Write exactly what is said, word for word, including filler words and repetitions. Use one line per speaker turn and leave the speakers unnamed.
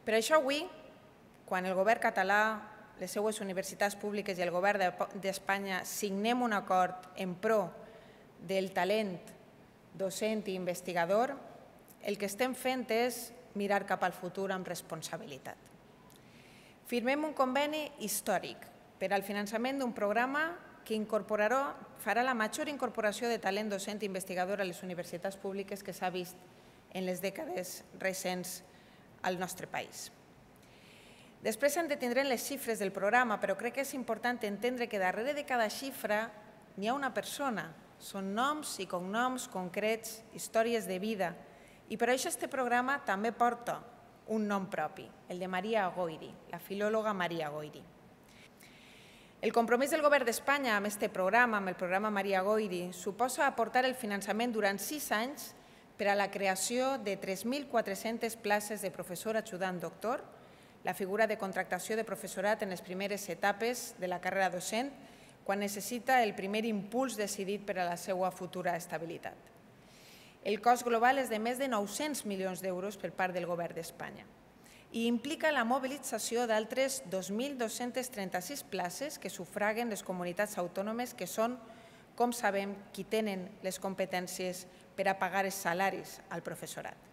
Per això avui, quan el govern català, les seues universitats públiques i el govern d'Espanya signem un acord en pro del talent docent i investigador, el que estem fent és mirar cap al futur amb responsabilitat. Firmem un conveni històric per al finançament d'un programa que incorporarà, farà la major incorporació de talent docent i investigador a les universitats públiques que s'ha vist en les dècades recents al nostre país. Després hem de tindre les xifres del programa, però crec que és important entendre que darrere de cada xifra n'hi ha una persona. Són noms i cognoms concrets, històries de vida. I per això aquest programa també porta un nom propi, el de Maria Goiri, la filòloga Maria Goiri. El compromís del govern d'Espanya amb aquest programa, amb el programa Maria Goiri, suposa aportar el finançament durant sis anys per a la creació de tres mil quatre-centes places de professor ajudant doctor, la figura de contractació de professorat en les primeres etapes de la carrera docent, quan necessita el primer impuls decidit per a la seva futura estabilitat. El cost global és de més de nou-cents milions d'euros per part del govern d'Espanya i implica la mobilització d'altres dos mil dos-centes trenta-sis places que sufraguen les comunitats autònomes que són, com sabem, qui tenen les competències per a pagar els salaris al professorat.